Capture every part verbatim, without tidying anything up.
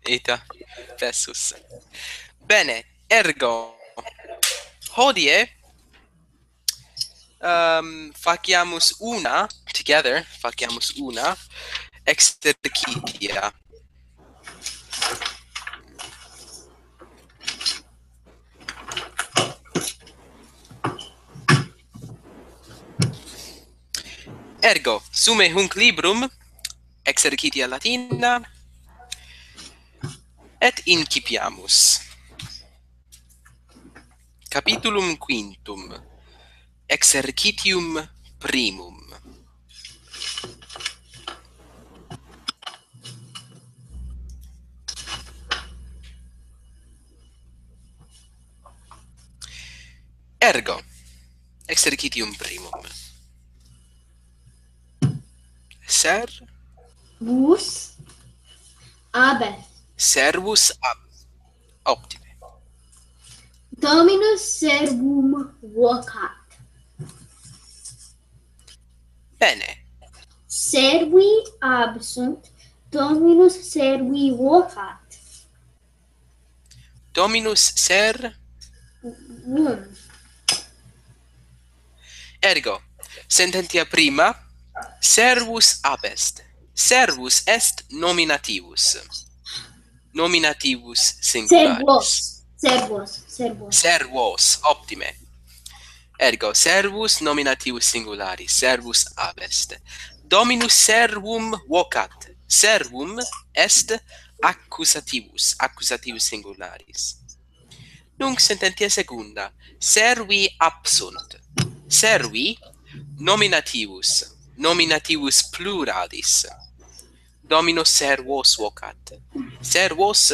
Ita, fessus. Bene, ergo, hodie, ehm, faciamus una, together, faciamus una exercitia. Ergo, sume hunc librum, exercitia Latina, et incipiamus. Capitulum quintum, exercitium primum. Ergo, exercitium primum. Ser Vus abest. Servus ab. Optime. Dominus servum vocat. Bene. Servi absunt, Dominus servi vocat. Dominus ser Vum. Ergo, sententia prima, servus abest. Servus est nominativus. Nominativus singularis. Servos, servos, servos. Servos, optime. Ergo, servus nominativus singularis, servus abest. Dominus servum vocat. Servum est accusativus, accusativus singularis. Nunc sententia secunda, servi absunt. Servi nominativus, nominativus pluralis. Dominus servos vocat. Servos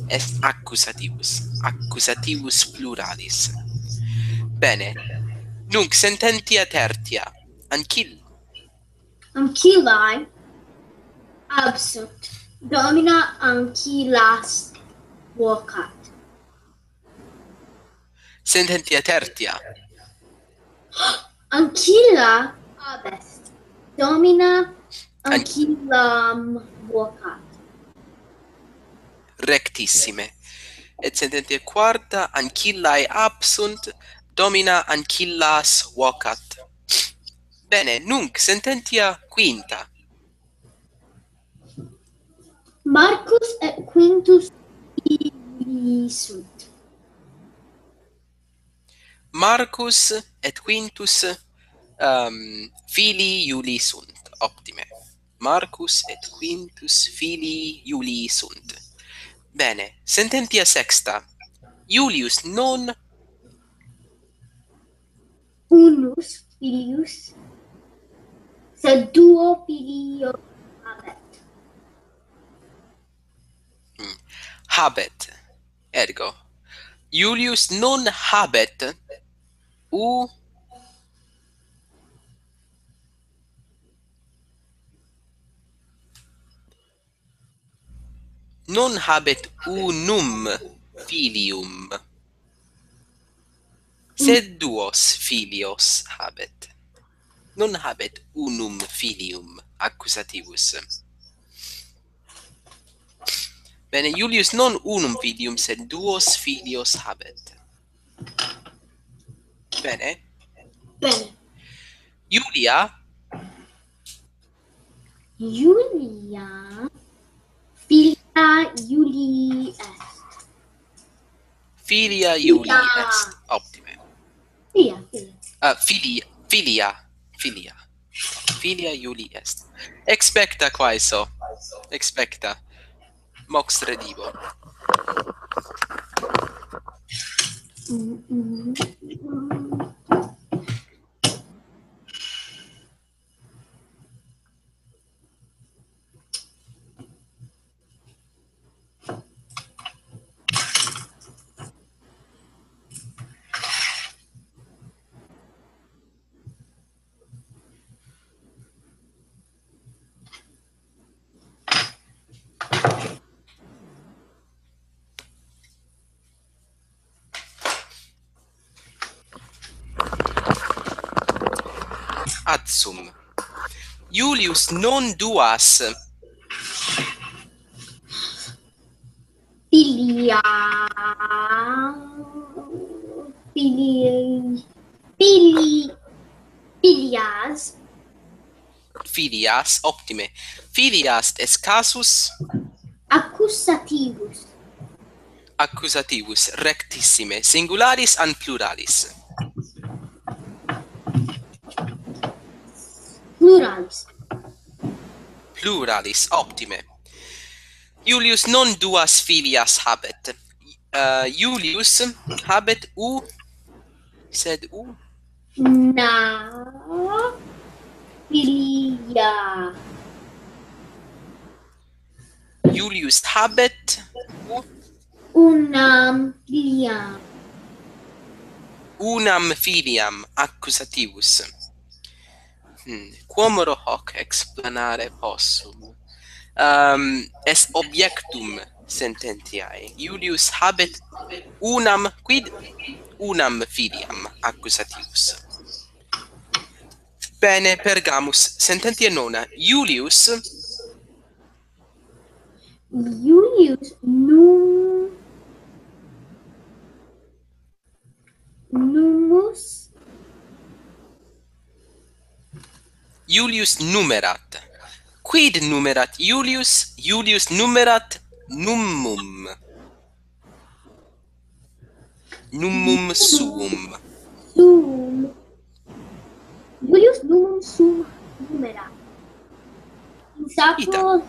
est accusativus, accusativus pluralis. Bene. Nunc sententia tertia, ancil Ancillae absunt, Domina ancillas vocat. Sententia tertia. Ancilla abest, Domina An- ancillam vocat. Rectissime. Et sententia quarta, ancillae absunt, Domina ancillas vocat. Bene, nunc sententia quinta. Marcus et Quintus filii sunt. Marcus et Quintus, ehm, filii Iulii sunt. Optime. Marcus et Quintus filii Iulii sunt. Bene, sententia sexta. Iulius non unus filius, sed duo filios habet. Mm. Habet, ergo. Iulius non habet u- non habet unum filium, sed duos filios habet. Non habet unum filium, accusativus. Bene, Iulius non unum filium, sed duos filios habet. Bene. Bene. Iulia. Iulia. Filia Iulii est. Filia Iulii Filia. Est. Optime. Filia, filia. Ah, filia, filia, filia. Filia Iulii est. Expecta quaeso. Expecta. Mox redibo. Ad sum. Iulius non duas. Filia. Fili-, fili-, filias. Filias, optime. Filias est casus. Accusativus. Accusativus, rectissime. Singularis an pluralis? Pluralis. Pluralis, optime. Iulius non duas filias habet. Eh, Iulius habet u-, sed u-, una filia. Iulius habet u-, unam filiam. Unam filiam, accusativus. Hmm, quomodo hoc explanare possum. Ehm, est objectum sententiae. Iulius habet unam, quid? Unam filiam, accusativus. Bene, pergamus, sententia nona. Iulius. Iulius num-, numus. Iulius numerat. Quid numerat Iulius? Iulius numerat numum. Numum suum. Suum. Iulius numum suum numerat. Ita. Insacro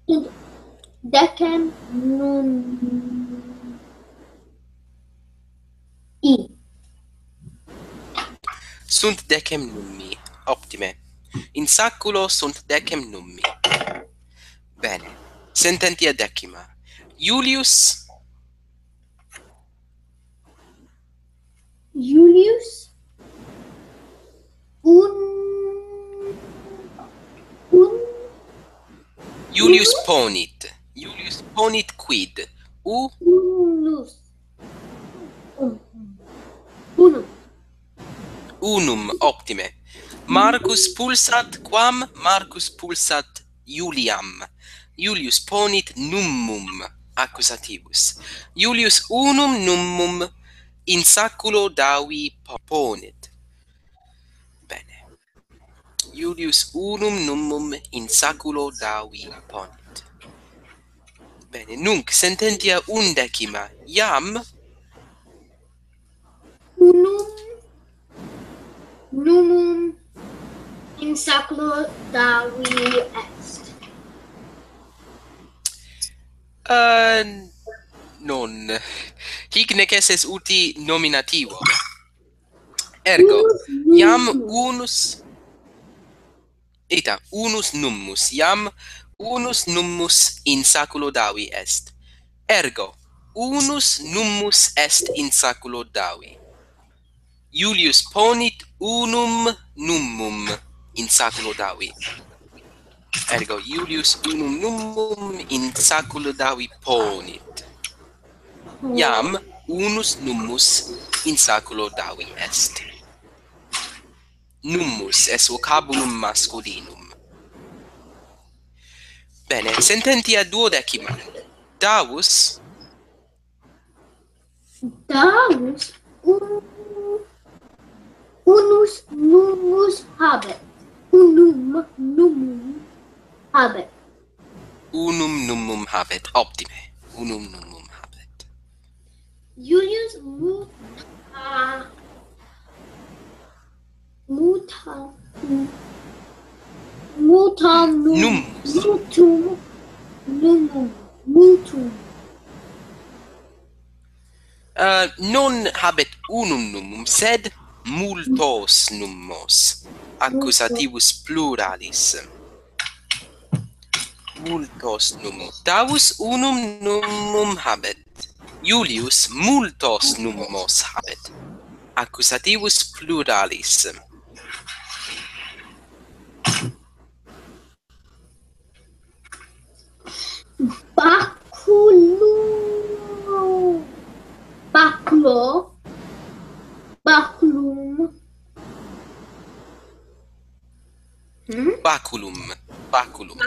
sunt decem numi. Sunt decem numi. Optime. In saculo sunt decem numi. Bene. Sententia decima. Iulius. Iulius un-, un-, Iulius unus? Ponit. Iulius ponit quid? U-, unus. Un-, unum. Unum, optime. Marcus pulsat quam? Marcus pulsat Iuliam. Iulius ponit numum, accusativus. Iulius unum numum in saculo Davi po-, ponit. Bene. Iulius unum numum in saculo Davi ponit. Bene, nunc sententia undecima. Iam unum numum in saculo Davi est. Eh, non. Hic neces est uti nominativo. Ergo, unus iam numum. Unus, ita, unus nummus, iam unus nummus in saculo Davi est. Ergo, unus nummus est in saculo Davi. Iulius ponit unum numum in saculo Davi. Ergo, Iulius unum numum in saculo Davi ponit. Iam unus nummus in saculo Davi est. Nummus est vocabulum masculinum. Bene, sententia duodecima. Davus. Davus un-, unus nummus habet. Unum numum habet. Unum numum habet. Optime. Unum numum habet. Iulius muta-, muta-, mutanum, num. Mutum numum, mutum. Eh, non habet unum numum, sed multos nummos, accusativus pluralis. Multos nummus. Davus unum numum habet. Iulius multos nummos habet, accusativus pluralis. Baculo. Baculo. Baculum. Hmm? Baculum. Baculum.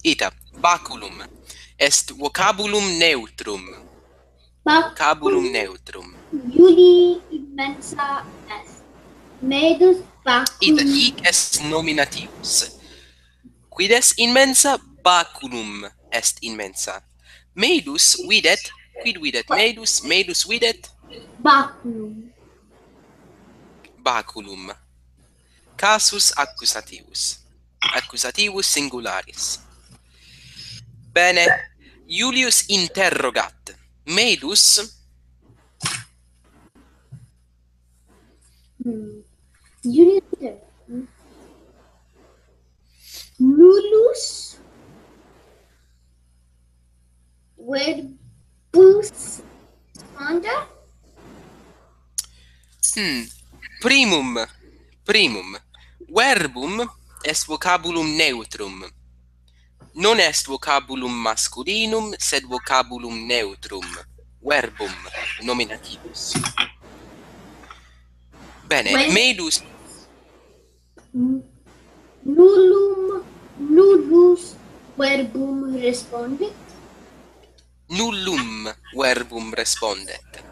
Ita. Baculum. Est vocabulum neutrum. Baculum. Vocabulum neutrum. Iulii inmensa est. Medus baculum. Ita hic est nominativus. Quid est inmensa? Baculum est inmensa. Medus videt, quid videt medus? Medus videt? Baculum. Baculum. Casus accusativus. Accusativus singularis. Bene, Iulius interrogat. Medus? Hmm. Iulius interrogat. Nullus verbus respondet? Hmm. Primum, primum. Verbum est vocabulum neutrum. Non est vocabulum masculinum, sed vocabulum neutrum. Verbum, nominativus. Bene, Ven- medus. N-, nullum, nullus verbum respondet? Nullum verbum respondet.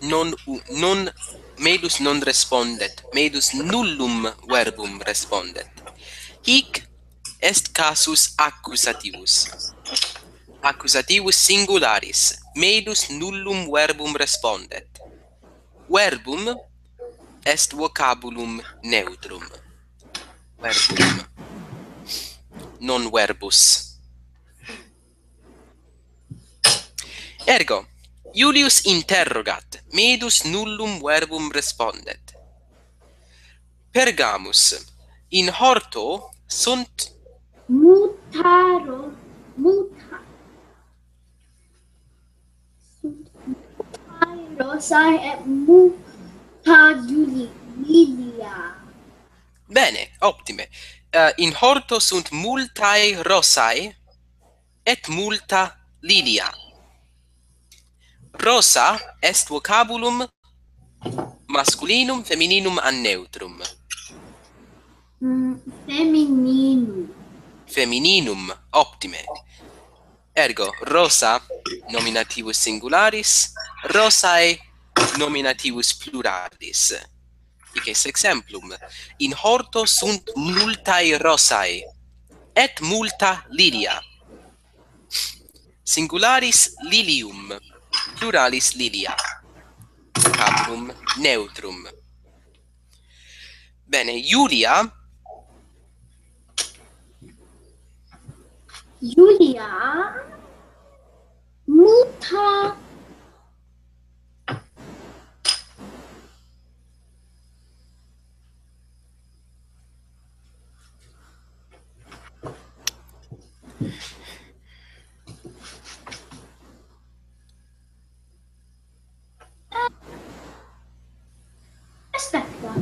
Non u-, non, medus non respondet, medus nullum verbum respondet. Hic est casus accusativus. Accusativus singularis, medus nullum verbum respondet. Verbum est vocabulum neutrum. Verbum. Non verbus. Ergo, Iulius interrogat, medus nullum verbum respondet. Pergamus, in horto sunt multae ro-, multa-, sunt multae rosae et multa li-, lilia. Bene, optime. Eh, in horto sunt multae rosae et multa lilia. Rosa est vocabulum masculinum, femininum an neutrum? Mm, femininum. Femininum, optime. Ergo, rosa nominativus singularis, rosae nominativus pluralis. Hic est exemplum. In horto sunt multae rosae, et multa lilia. Singularis lilium, pluralis lilia. Vocabulum neutrum. Bene, Iulia. Iulia multa Aspetta.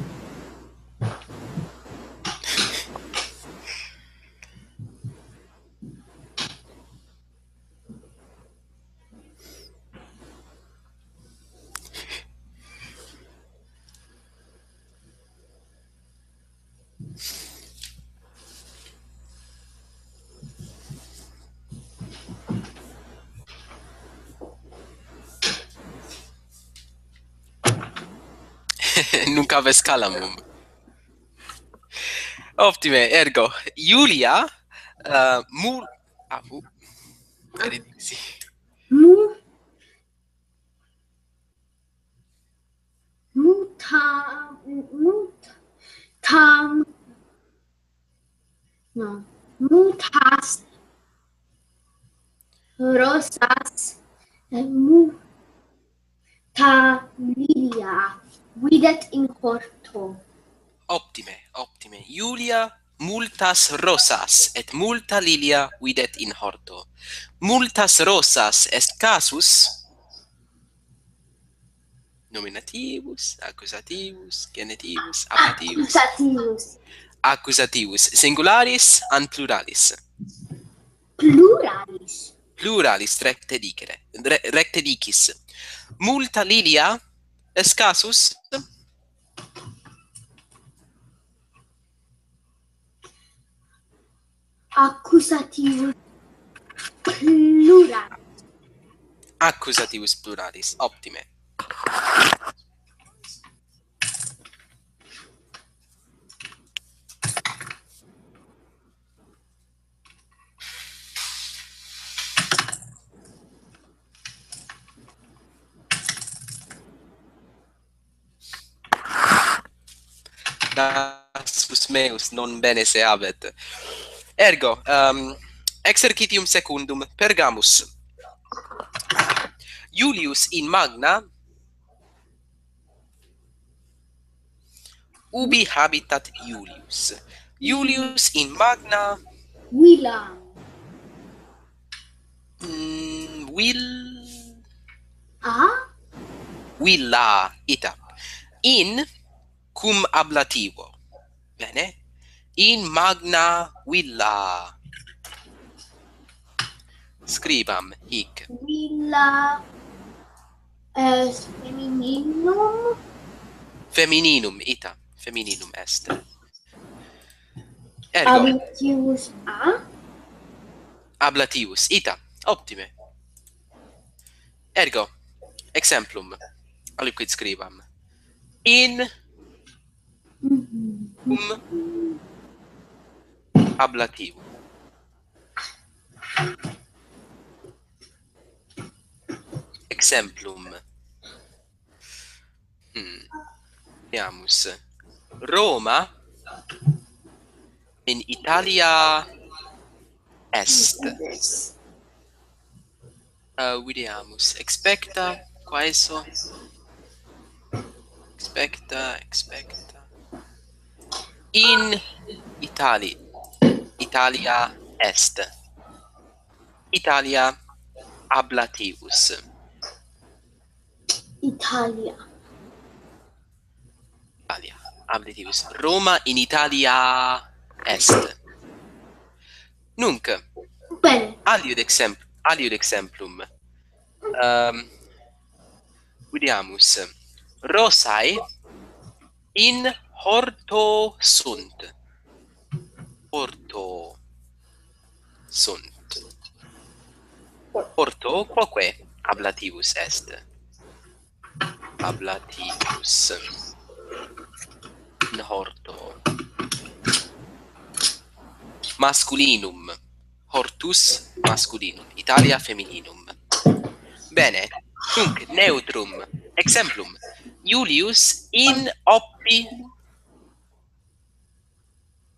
Nunc aves calamum. Optime, ergo, Iulia, eh, mul-, ah, uh, benedicti. Mu-, muta-, mut-, tam-, no, multas rosas, eh, mu-, ta lilia videt in horto. Optime, optime. Iulia multas rosas et multa lilia videt in horto. Multas rosas est casus nominativus, accusativus, genitivus, ablativus. Accusativus. Accusativus. Singularis an pluralis? Pluralis. Pluralis, recte dicere, re-, recte dicis. Multa lilia est casus? Accusativus pluralis. Accusativus pluralis, optime. Nasus meus, non bene se habet. Ergo, um, exercitium secundum, pergamus. Iulius in magna Ubi habitat Iulius? Iulius in magna villa. Mm, vil- A? Villa, ita. In cum ablativo. Bene. In magna villa. Scribam hic. Villa est femininum. Femininum, ita. Femininum est. Ergo. Ablativus a? Ablativus, ita. Optime. Ergo. Exemplum. Aliquid scribam. In cum ablativo. Exemplum. Hmm. Vidimus. Roma in Italia est. Uh, vidimus. Expecta, quaeso? Expecta, expecta. In Itali-, Italia est. Italia ablativus. Italia. Italia ablativus. Roma in Italia est. Nunc. Bene. Aliud exempl-, aliud exemplum. Um, vidimus. Rosae in horto sunt. Horto sunt. Horto quoque ablativus est? Ablativus. In horto. Masculinum. Hortus masculinum. Italia femininum. Bene. Nunc neutrum. Exemplum. Iulius in oppi-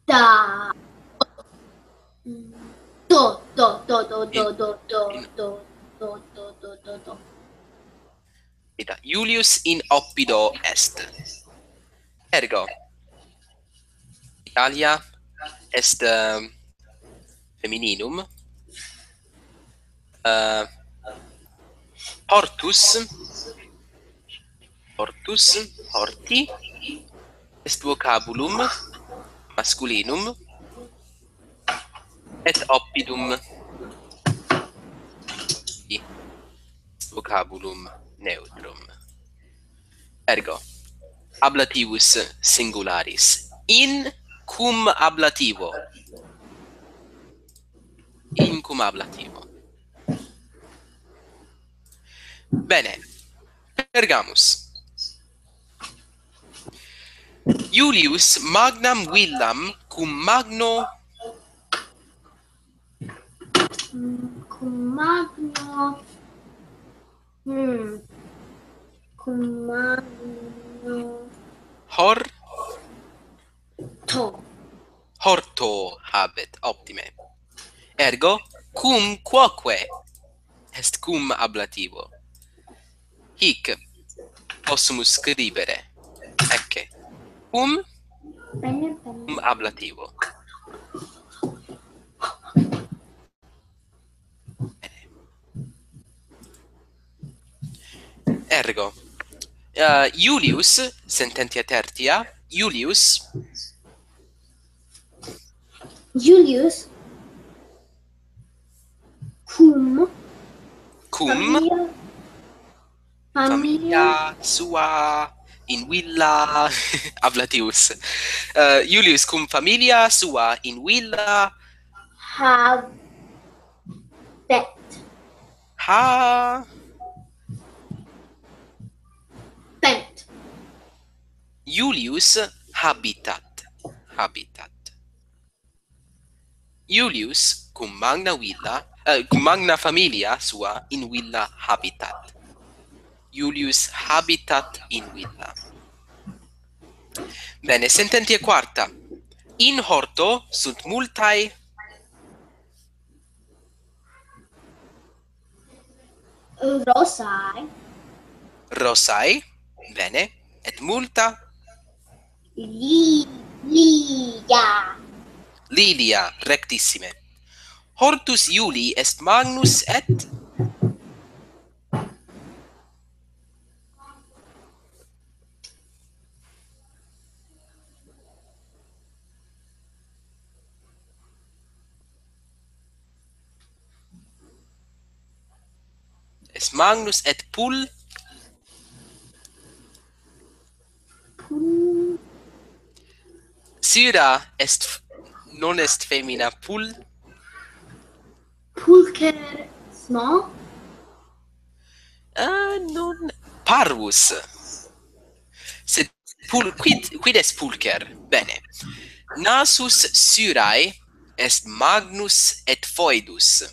Da. Do, do, do. Ita, Iulius in oppido est. Ergo. Italia est, eh, femininum. Eh, hortus, hortus, horti, est vocabulum masculinum, et oppidum est vocabulum neutrum. Ergo, ablativus singularis. In cum ablativo. In cum ablativo. Bene. Pergamus. Iulius magnam villam cum magno Mm, cum magno. Mm. Cum magno. Hor-, to. Horto habet, optime. Ergo, cum quoque est cum ablativo. Hic possumus scribere. Ecce. Cum, cum ablativo. Ergo. Eh, Iulius, sententia tertia, Iulius. Iulius. Cum. Cum. Familia. Familia. Familia sua in villa. Ablatius. Eh, Iulius cum familia sua in villa Habet. Ha. Bent. Julius habitat. Habitat. Julius cum magna villa, eh, cum magna familia sua in villa habitat. Julius habitat in villa. Bene, sententia quarta. In horto sunt multae rosae. Rosae, bene, et multa li-, lilia. Lilia, rectissime. Hortus Iulii est magnus et est magnus et pul-, pul-, Syrah est f-, non est femina pul-, pulcher, no? Ah, non, parvus. Sed pul-, quid, quid est pulcher? Bene. Nasus Syrae est magnus et foedus.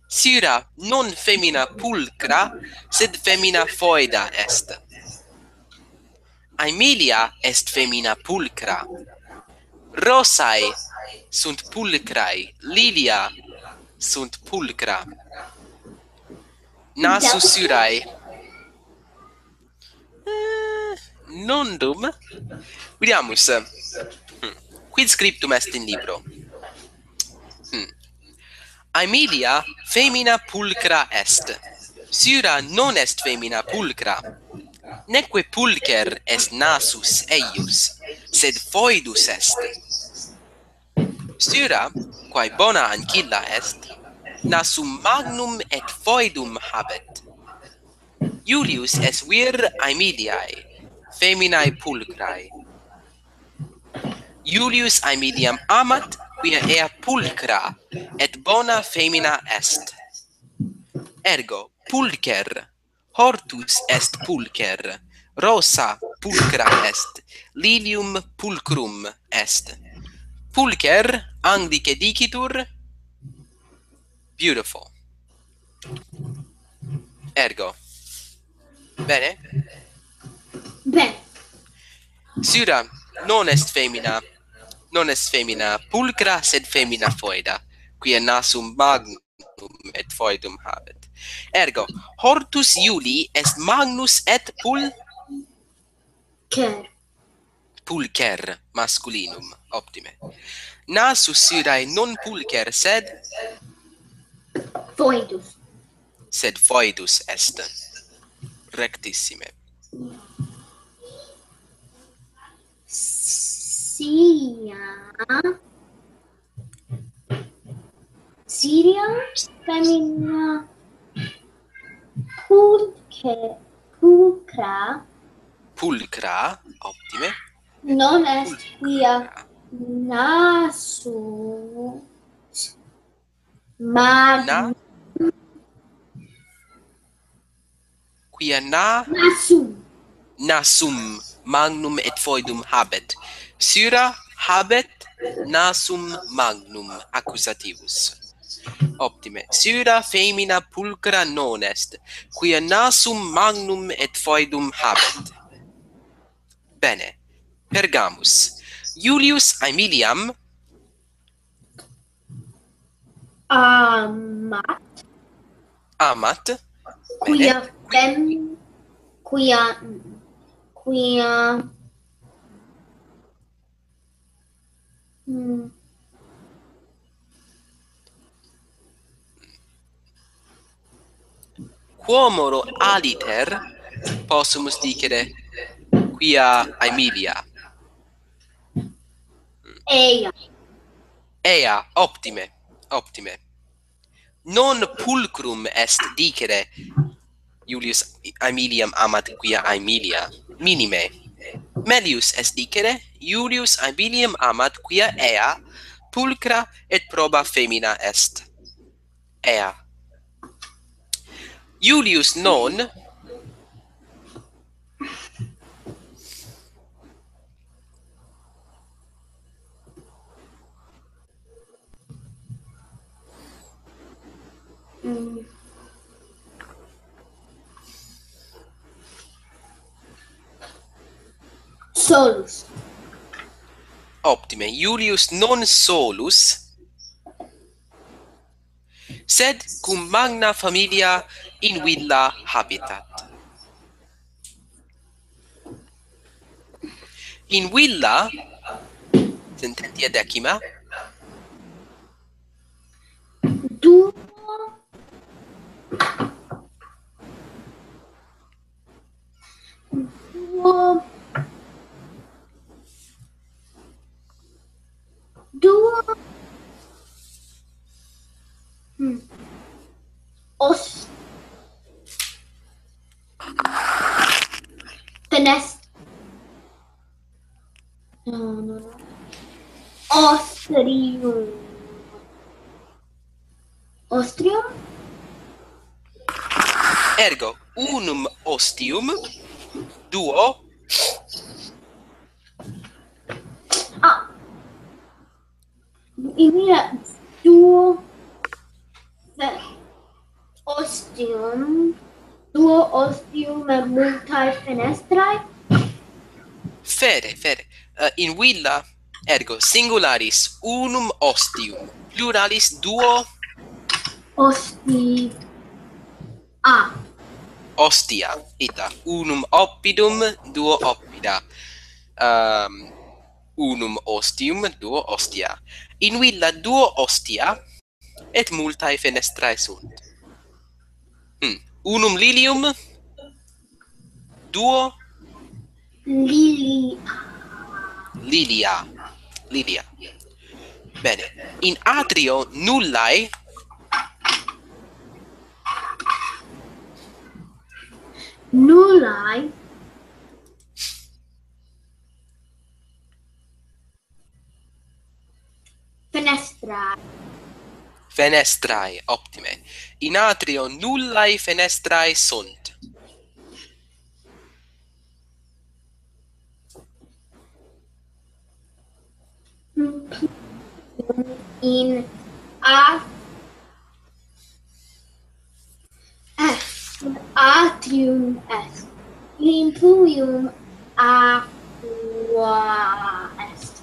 Syrah non femina pulcra, sed femina foeda est. Aemilia est femina pulcra. Rosae sunt pulcrae, lilia sunt pulcra. Nasus Syrae. Eh, nondum. Vidiamus. Hmm. Quid scriptum est in libro? Hmm. Aemilia femina pulcra est. Syrah non est femina pulcra. Neque pulcher est nasus eius, sed foedus est. Syrah, quae bona ancilla est, nasum magnum et foedum habet. Iulius est vir Aemiliae, feminae pulcrae. Iulius Aemiliam amat, quia ea pulcra et bona femina est. Ergo, pulcher, hortus est pulcher, rosa pulcra est, lilium pulcrum est. Pulcher, anglice dicitur, beautiful. Ergo. Bene? Bene. Syrah non est femina, non est femina pulcra, sed femina foeda, quia nasum magnum et foedum habet. Ergo, hortus Iulii est magnus et pul-, cher. Pulcher, masculinum, optime. Nasus Syrae non pulcher, sed? Foedus. Sed foedus est. Rectissime. Sia Syria femina pulche-, pulcra. Pulcra, optime. Non est pulcra. Quia nasus mag-, na-, quia na-, nasum. Nasum magnum et foedum habet. Syrah habet nasum magnum, accusativus. Optime. Syrah femina pulcra non est, quia nasum magnum et foedum habet. Bene. Pergamus. Iulius Aemiliam amat. Amat. Quia, bene, fem-, quia, quia, mm. Quomodo aliter possumus dicere quia Aemilia? Ea. Ea, optime, optime. Non pulcrum est dicere Iulius Aemiliam amat quia Aemilia, minime. Melius est dicere Iulius Aemiliam amat quia ea pulchra et proba femina est. Ea. Iulius non Mm. Solus. Optime, Iulius non solus, sed cum magna familia in villa habitat. In villa, sententia decima. Duo. Duo. Duo. Hmm. Os. Fenest. No, no, no. Ostrium. Ostrium? Ergo, unum ostium, duo. Ah. In villa duo fe-, ostium, duo ostium et multae fenestrae? Fere, fere. Eh, in villa, ergo, singularis unum ostium, pluralis duo. Osti-, a. Ostia, ita, unum oppidum, duo oppida. Ehm, unum ostium, duo ostia. In villa duo ostia et multae fenestrae sunt. Hmm. Unum lilium, duo Lili-, lilia. Lilia. Bene. In atrio nullae. Nullae. Fenestrae. Fenestrae, optime. In atrio nullae fenestrae sunt. In a-, est, atrium est, in pluvium aqua est.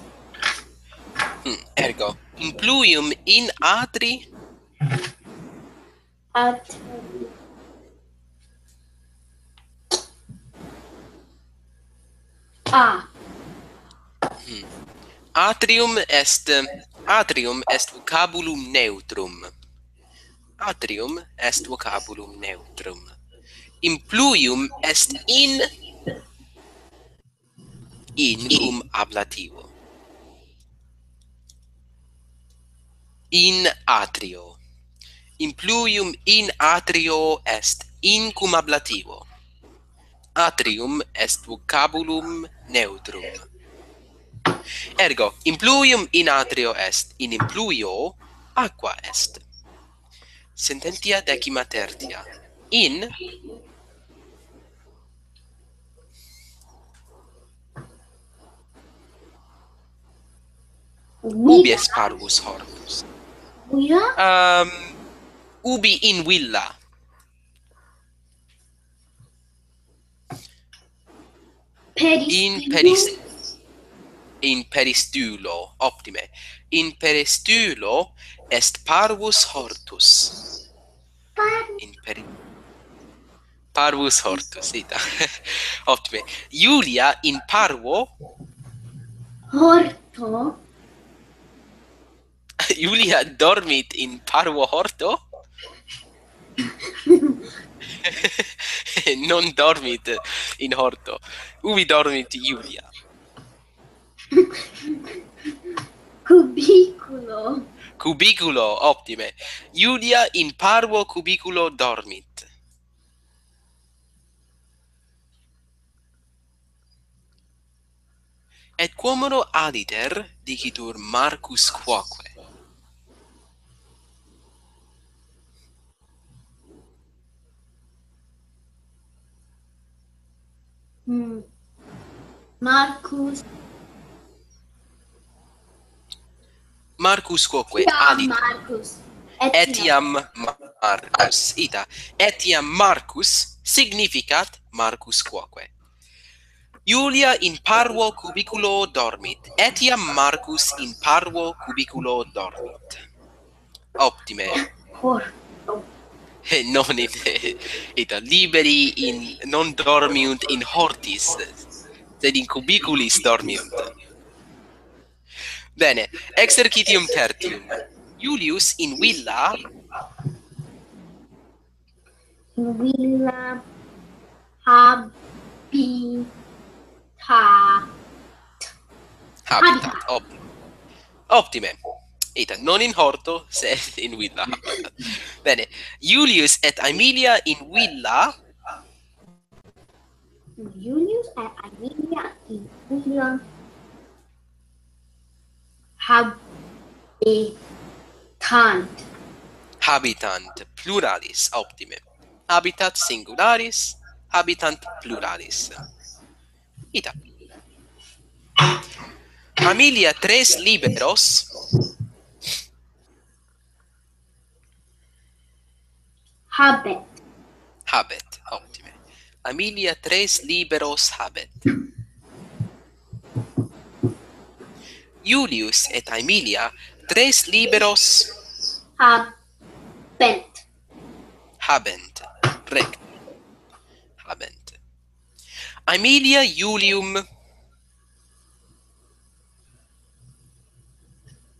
Hmm, ergo, in pluvium in atri At-, a. Hmm. Atrium est, atrium est vocabulum neutrum. Atrium est vocabulum neutrum. In pluvium est in In cum ablativo. In atrio. In pluvium in atrio est in cum ablativo. Atrium est vocabulum neutrum. Ergo, in pluvium in atrio est, in impluvio aqua est. Sententia decima tertia. In Ubi est parvus hortus? Villa? Ehm, ubi in villa? In peris-, in peristulo, optime. In peristulo est parvus hortus. Par- In peri-, Parvus hortus, ita. Optime. Iulia in parvo. Horto. Iulia dormit in parvo horto? Non dormit in horto. Ubi dormit Iulia? Cubiculo. Cubiculo, optime. Iulia in parvo cubiculo dormit. Et quomodo aliter dicitur Marcus quoque? Mm. Marcus. Marcus quoque, iam aliter. Marcus. Etiam Marcus. Ita. Etiam Marcus significat Marcus quoque. Iulia in parvo cubiculo dormit. Etiam Marcus in parvo cubiculo dormit. Optime. Cor. Eh, non in, eh, ita, liberi in, non dormiunt in hortis, sed in cubiculis dormiunt. Bene, exercitium tertium. Iulius in villa. In villa habitat. Habitat. Op- optime. Ita, non in horto, sed in villa habitat. Bene. Iulius et Aemilia in villa. Iulius et Aemilia in villa habitant. Habitant, pluralis, optime. Habitat singularis, habitant pluralis. Ita. Aemilia tres liberos. Habet. Habet, optime. Aemilia tres liberos habet. Iulius et Aemilia tres liberos Habent. Habent. Recte. Habent. Aemilia Iulium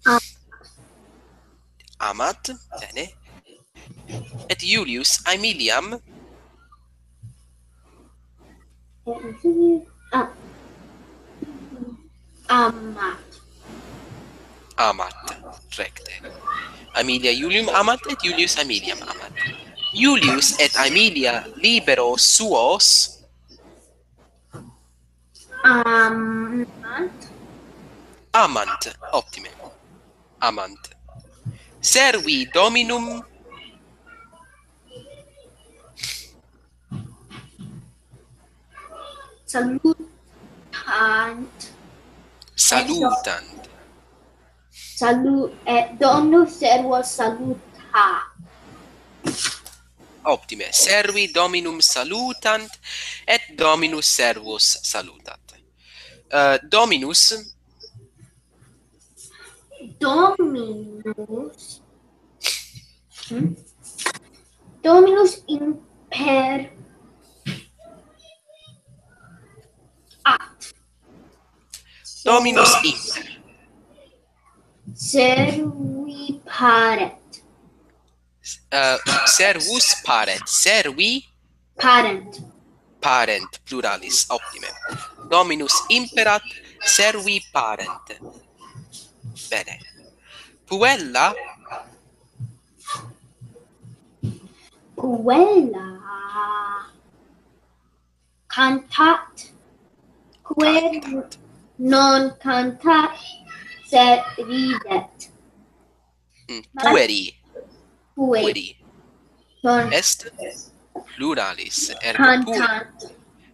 A- amat, bene. Et Iulius Aemiliam A- Amat. Amat, recte. Aemilia Iulium amat et Iulius Aemiliam amat. Iulius et Aemilia liberos suos Amant. Amant, optime. Amant. Servi dominum Salutant. Salutant. Salu- et dominus servos salutat. Optime. Servi dominum salutant et dominus servos salutat. Uh, dominus. Dominus. Hmm? Dominus imper at. Dominus imper. Servi paret. Uh, servus paret. Servi Parent. Parent, pluralis, optime. Dominus imperat, servi parent. Bene. Puella. Puella. Cantat. Quer non cantat, sed ridet. Mm, pueri. Pueri. Est pluralis, ergo pueri.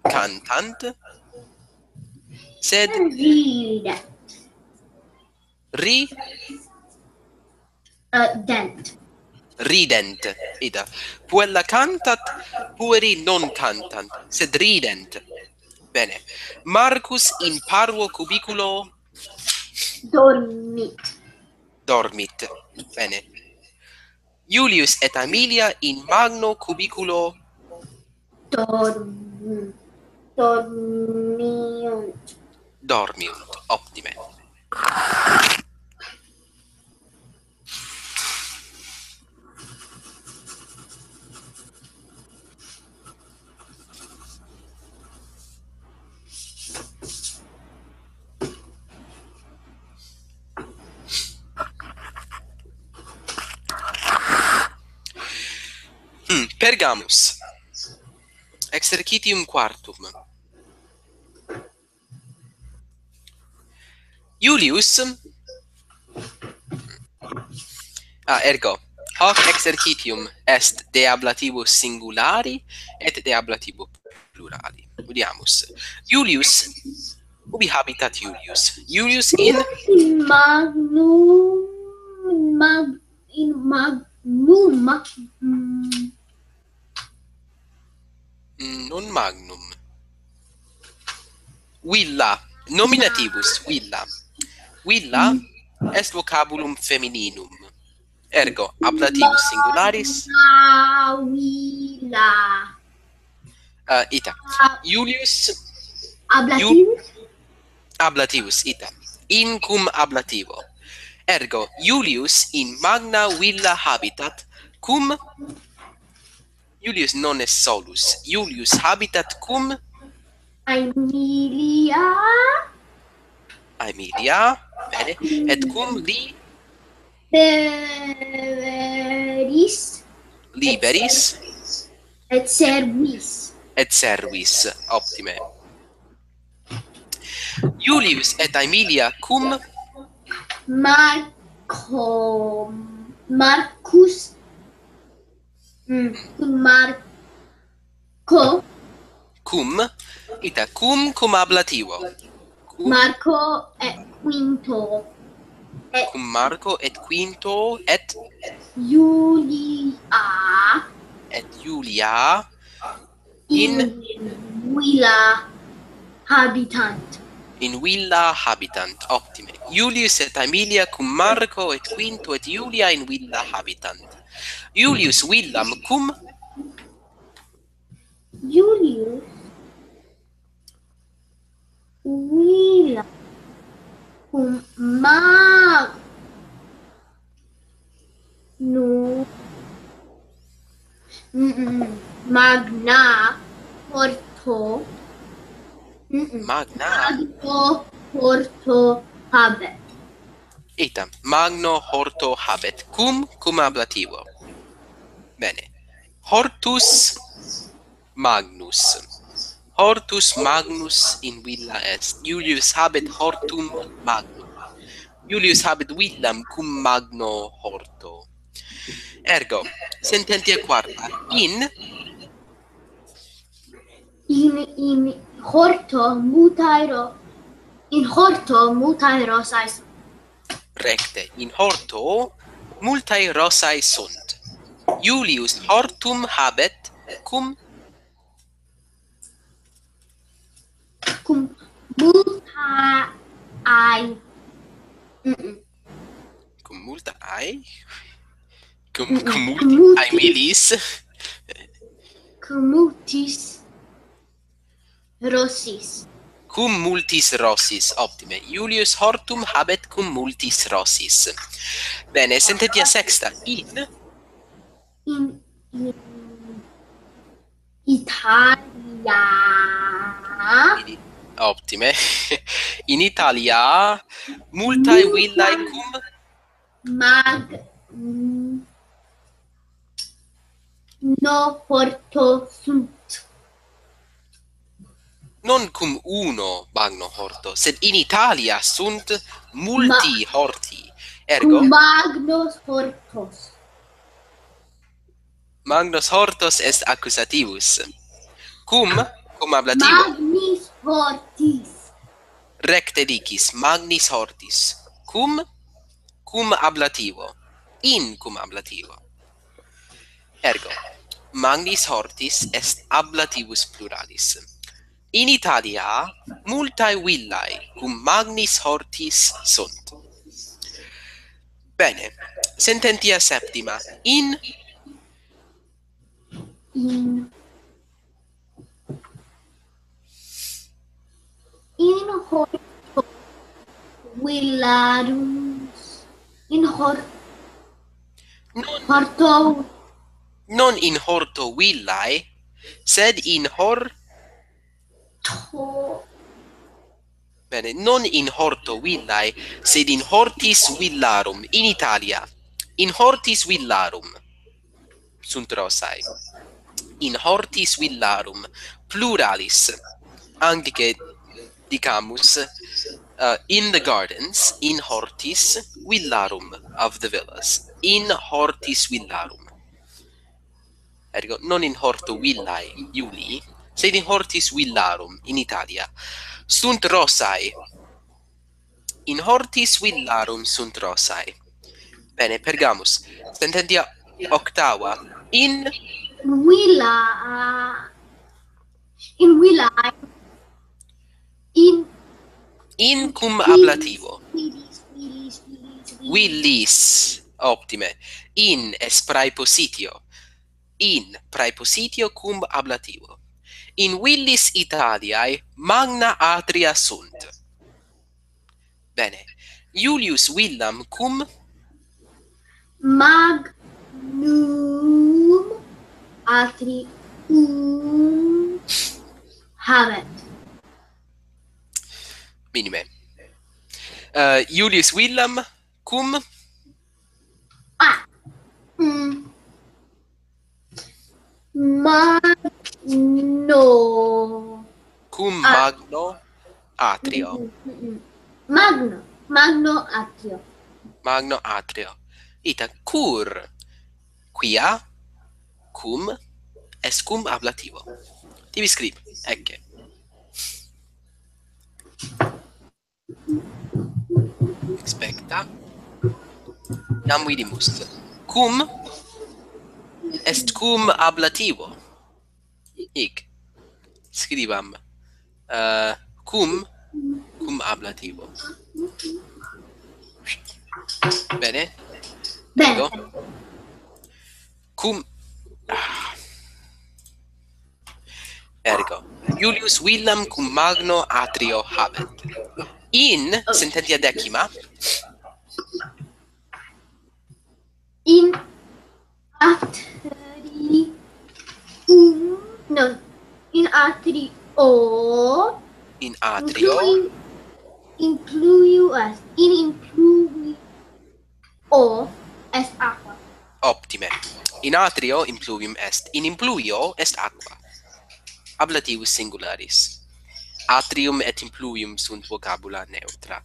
Cantant. Sed ridet. Ri- Uh, dent. Rident. Ita. Puella cantat, pueri non cantant, sed rident. Bene. Marcus in parvo cubiculo dormit. Dormit. Bene. Iulius et Aemilia in magno cubiculo dorm- dormiunt. Dormiunt. Optime. Hmm, Pergamus. Exercitium quartum. Iulius. Ah, ergo, hoc exercitium est de ablativo singulari et de ablativo plurali. Udiamus. Iulius, ubi habitat Iulius? Iulius in? In magnum, in mag-, in magnum, mag-, mm. Non magnum. Villa, nominativus, villa. Villa est vocabulum femininum. Ergo, ablativus singularis. Villa. Ah, ita. Iulius. Ablativus? Ablativus, ita. In cum ablativo. Ergo, Iulius in magna villa habitat cum. Iulius non est solus. Iulius habitat cum. Aemilia. Aemilia, bene. Et cum li. Liberis. Liberis. Et servis. Et servis, optime. Iulius et Aemilia cum. Marco, Marcus. Mm, cum Marco. Cum, ita, cum, cum ablativo. Cum. Marco et Quinto. Et cum Marco et Quinto et Iulia. Et Iulia. In. In villa habitant. In villa habitant, optime. Iulius et Aemilia cum Marco et Quinto et Iulia in villa habitant. Iulius villam cum. Iulius villa cum Magnu-, mm, mm, magna horto, mm, mm, magna. Magno horto habet. Ita, magno horto habet. Cum, cum ablativo. Bene. Hortus magnus. Hortus magnus in villa est. Iulius habet hortum magnum. Iulius habet villam cum magno horto. Ergo, sententia quarta. In. In, in horto multae ro-, in horto multae rosae sunt. Recte, in horto multae rosae sunt. Iulius hortum habet cum. Cum multae. Mm-mm. Cum multae? Cum, mm-mm. Cum multi-, cum multi-, aemilis? Cum multis rosis. Cum multis rosis, optime. Iulius hortum habet cum multis rosis. Bene, sententia sexta. In. In, in Italia. In, optime. In Italia multae villae cum. Mag-, mm, no horto sunt. Non cum uno magno horto, sed in Italia sunt multi horti. Ergo? Cum magnos hortos. Magnos hortos est accusativus. Cum, cum ablativo. Magnis hortis. Recte dicis, magnis hortis. Cum, cum ablativo. In cum ablativo. Ergo, magnis hortis est ablativus pluralis. In Italia multae villae cum magnis hortis sunt. Bene, sententia septima. In, in, in horto villarum, in hor-, non, horto. Non in horto villae, sed in hor-, to. Bene, non in horto villae, sed in hortis villarum, in Italia. In hortis villarum sunt rosae. In hortis villarum, pluralis. Anglice dicamus, Uh, in the gardens, in hortis villarum of the villas. In hortis villarum. Ergo, non in horto villae Iulii, sed in hortis villarum in Italia. Sunt rosae. In hortis villarum sunt rosae. Bene, Pergamus. Sententia octava. In villa, uh, in villa, in in cum ablativo. Villis, villis, villis, villis. Villis. Optime. In est praepositio. In praepositio cum ablativo. In villis Italiae magna atria sunt. Bene. Iulius villam cum magnum atrium habet. Minime. Uh, Iulius villam cum ah. Mm. Magno. Cum magno atrio. Mm, mm, mm. Magno, magno atrio. Magno atrio. Ita cur, quia, cum, est cum ablativo. Tibi scribi, ecce. Expecta. Nam vidimus. Cum est cum ablativo. Hic. Scribam. Uh, cum, cum ablativo. Bene? Bene. Ergo. Cum, ah. Ergo, Iulius villam cum magno atrio habet. In sententia decima. In atrium, no, in atrio. In atrio. Inclui-, incluiu est, in incluio est aqua. Optime. In atrio impluvium est, in impluio est aqua. Ablativus singularis. Atrium et impluvium sunt vocabula neutra.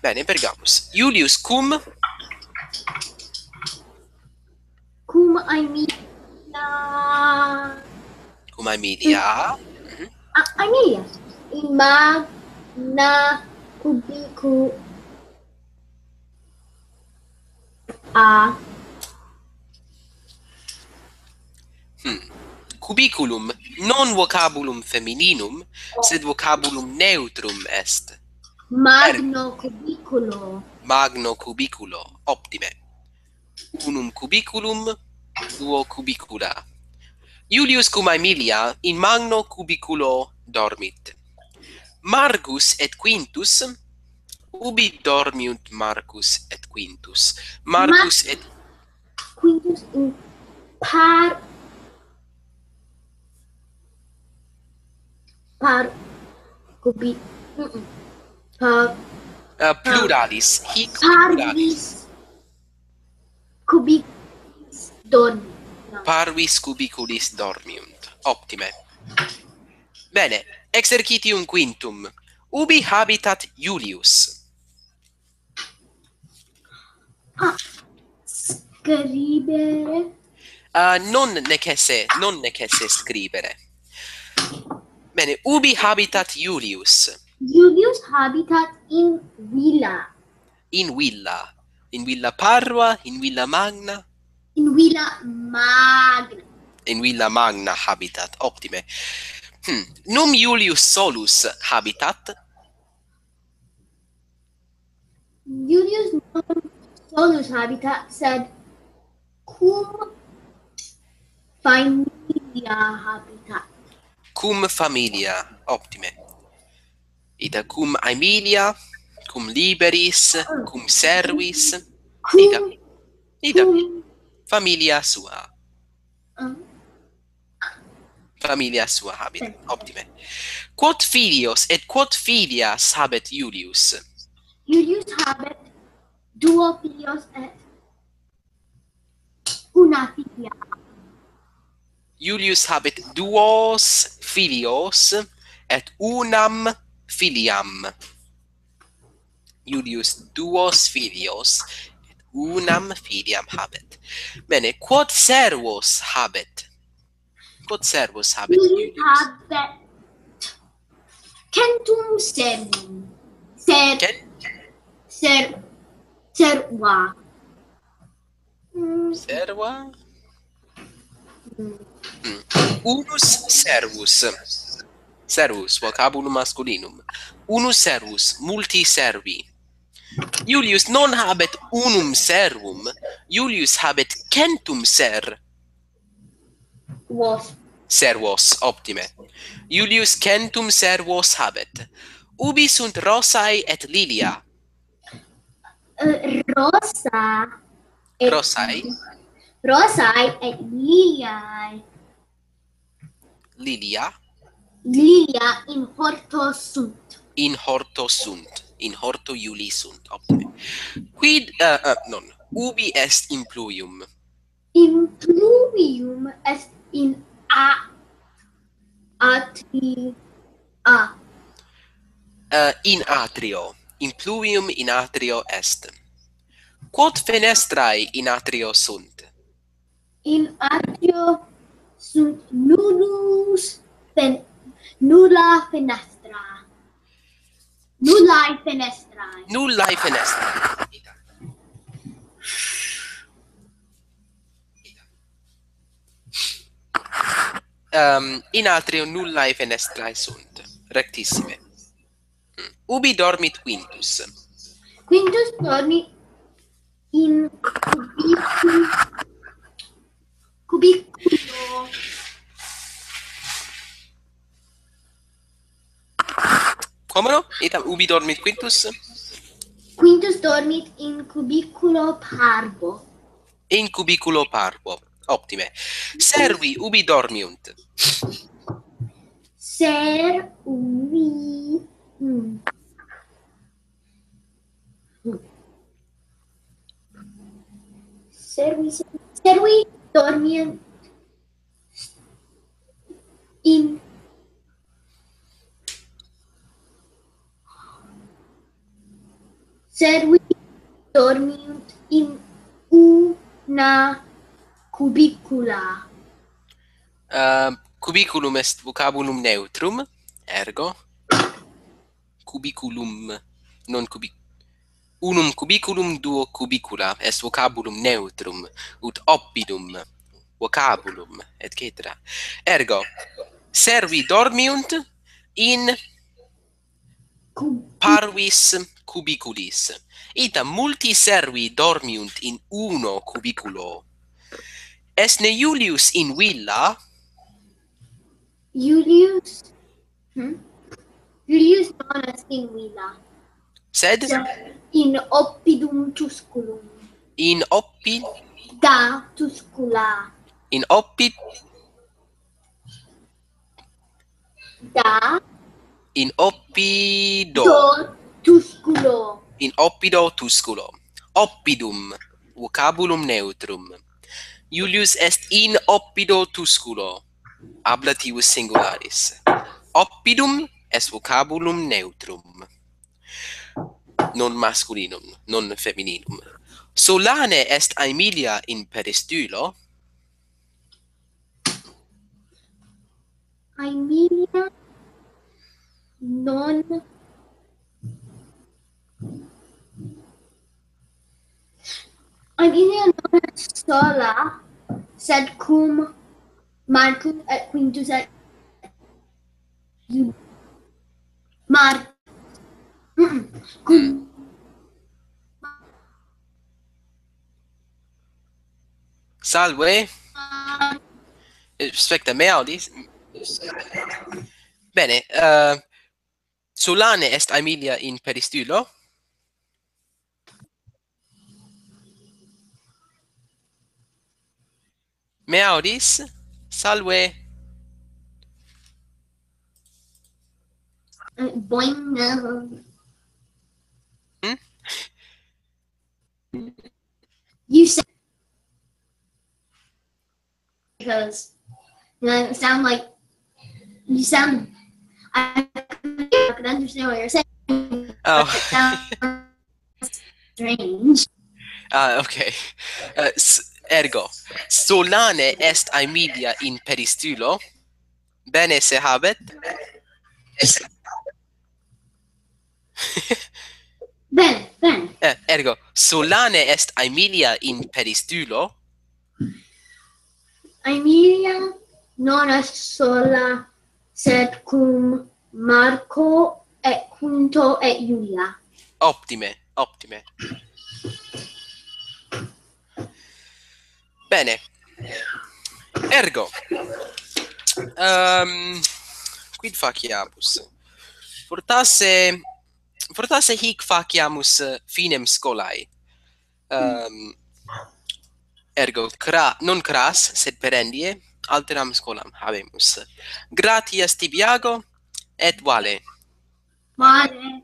Bene, Pergamus. Iulius cum? Cum Aemilia. Cum Aemilia. Mhm. A, Aemilia. In magna cubicu-, a. Hmm. Cubiculum, non vocabulum femininum, sed vocabulum neutrum est. Magno cubiculo. Magno cubiculo, optime. Unum cubiculum, duo cubicula. Iulius cum Aemilia in magno cubiculo dormit. Marcus et Quintus, ubi dormiunt Marcus et Quintus? Marcus Mar-, et Quintus in par-, par-, cubi-, mm-mm. Par-, eh, pluralis, hic pluralis. Parvis cubiculis dormiunt. No. Parvis cubiculis dormiunt. Optime. Bene, exercitium quintum. Ubi habitat Iulius? Ah, scribere. Ah, non necesse, non necesse scribere. Bene, ubi habitat Iulius? Iulius habitat in villa. In villa. In villa parva, in villa magna? In villa magna. In villa magna habitat, optime. Hmm. Num Iulius solus habitat? Iulius non solus habitat, sed cum familia habitat. Cum familia, optime. Ita cum Aemilia, cum liberis, ah, cum servis, cum, ita, ita cum familia sua. Ah. Familia sua habet. Sì. Optime. Quot filios et quot filias habet Iulius? Iulius habet duo filios et una filia. Iulius habet duos filios et unam filiam. Julius duos filios, et unam filiam habet. Bene, quod servos habet? Quod servos habet Julius? Habet centum servum. Ser-, Cen-, ser-, serva. Mm. Serva? Mm. Mm. Unus servus. Servus, vocabulum masculinum. Unus servus, multi servi. Julius non habet unum servum, Julius habet centum ser-, vos. Servos, optime. Julius centum servos habet. Ubi sunt Rosae et Lilia? Eh, Rosa et Rosae? Rosae et Liliae. Lilia? Lilia in horto sunt. In horto sunt. In horto Iulii sunt. Optime. Quid, eh, eh, non. Ubi est impluvium? Impluvium est in a-, atri-, a. Eh, in atrio. Impluvium in atrio est. Quod fenestrae in atrio sunt? In atrio sunt nullus fen-, nulla fenestra. Nullae fenestrae. Nullae fenestrae. Ehm, in atrio nullae fenestrae sunt. Rectissime. Mm. Ubi dormit Quintus? Quintus dormit in cubicu-, cubiculo. Como no? Ita, ubi dormit Quintus? Quintus dormit in cubiculo parvo. In cubiculo parvo. Optime. Servi ubi dormiunt? Servi. Mm. Servi, servi dormiunt in, servi dormiunt in una cubicula. Eh, cubiculum est vocabulum neutrum, ergo. Cubiculum, non cubi-, unum cubiculum, duo cubicula, est vocabulum neutrum, ut oppidum vocabulum, et cetera. Ergo, servi dormiunt in cu-, parvis cubiculis. Ita, multi servi dormiunt in uno cubiculo. Est ne Iulius in villa? Iulius Hmm? Iulius non est in villa. Sed? Sed in oppidum tusculum. In oppi-? Da tuscula. In oppi-? Da. In oppido. Do tusculo. In oppido tusculo. Oppidum. Vocabulum neutrum. Iulius est in oppido tusculo. Ablativus singularis. Oppidum est vocabulum neutrum. Non masculinum, non femininum. Solane est Aemilia in peristylo? Aemilia non Aemilia non est sola, sed cum Marcus et Quintus et Ju-, Mar-, mm, cum Salve. Mar- Eh, specta, me audis? Bene, eh, Solane est Aemilia in peristylo? Me audis? Salve. Uh, boing. Hmm? You sa- Because you know, it sound like you sound. I could understand what you're saying. Oh. But it sound strange. Ah, ok. Eh, s- ergo, solane est Aemilia in peristulo? Bene se habet? Bene, bene. Eh, ergo, solane est Aemilia in peristulo? Aemilia non est sola, sed cum Marco et Quinto et Julia. Optime, optime. Bene. Ergo. Ehm, quid faciamus? Fortasse, fortasse hic faciamus, eh, finem scholae. Ehm, ergo, cra, non cras, sed perendie, alteram scholam habemus. Gratias tibi, Iago, et Vale. Male.